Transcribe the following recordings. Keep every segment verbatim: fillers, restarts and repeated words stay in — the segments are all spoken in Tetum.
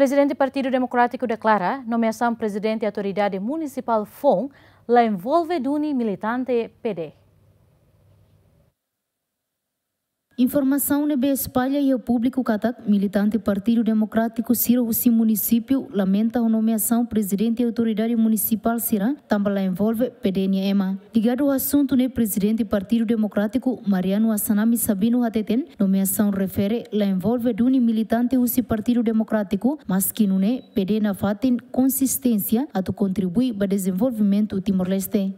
Prezidente Partidu Demokrátiku deklara nomeasaun Prezidente Autoridade Munisipál foun la envolve duni militante P D. Informasaun ne'ebé espalla iha públiku katak militante Partidu Demokrátiku sira husi munisípiu lamenta ho nomeasaun Prezidente Autoridade Munisipál sira tanba la envolve P D nia ema. Ligadu ho asuntu ne'e, Prezidente Partidu Demokrátiku, Mariano Assanami Sabino, hateten nomeasaun refere la envolve duni militante husi Partidu Demokrátiku, maski nune'e P D nafatin konsisténsia atu kontribui ba dezenvolvimentu Timor-Leste.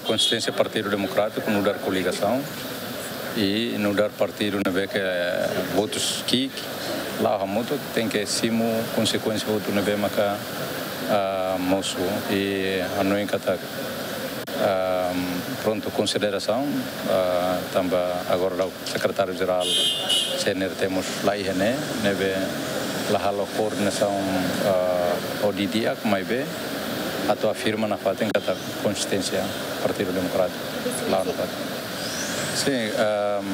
Konsisténsia Partidu Demokrátiku nu'udar koligasaun i nu'udar partidu ne'ebé ke votus ki'ik la'o hamutuk, tenke simu konsekuénsia hotu ne'ebé maka, ah, mosu. I hanoin katak, ah, prontu, konsiderasaun, ah, tanba agora la'o Sekretáriu Jerál C N R T mós la iha ne'e, ne'ebé la halo koordenasaun, ah, ho di'ak, maibé atu afirma nafatin katak konsisténsia Partidu Demokrátiku la'o nafatin. Sin, ehm,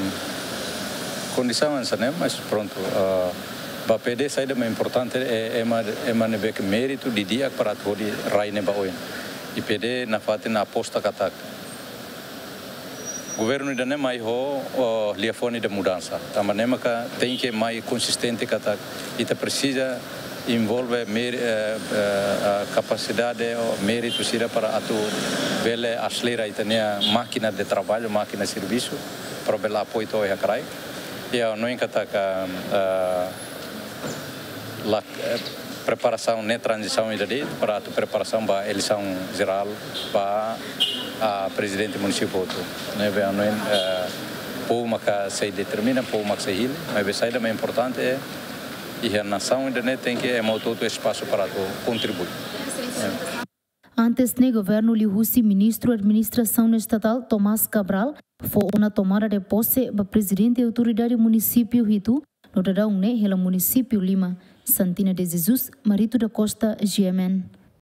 kondisaun hanesan ne'e, mas prontu, ah, ba P D saida mak importante, eh, ema, ema ne'ebé ke méritu di'ak para atu hodi rai ne'e ba oin. I P D nafatin aposta katak governu ida-ne'e mai ho, o, liafuan ida mudansa. Tanba ne'e maka tenke mai konsistente katak ita presiza envolve mér-, eh, eh, eh, kapasidade ou méritu sira para atu bele aselera ita-nia mákina de traballu, mákina servisu, para bele apoiu to'o iha kraik. I ha'u hanoin katak, eh, la, eh, preparasaun ne'e tranzisaun ida de'it para atu preparasaun ba eleisaun jerál ba, ah, prezidente munisípiu hotu. Ne'ebé ha'u hanoin, eh, povu maka sei determina, povu maka sei hili, maibé saida mak importante é iha nasaun ida-ne'e tenke ema hotu-hotu espasu para atu kontribui. Eh. Antes ne'e, governu liuhusi Ministru Administrasaun Estatál, Tomás Cabral, fó ona tomada de pose ba Prezidente Autoridade Munisípiu hitu, no daudaun ne'e hela munisípiu lima. Santina de Jesus, Marito da Costa, G M N.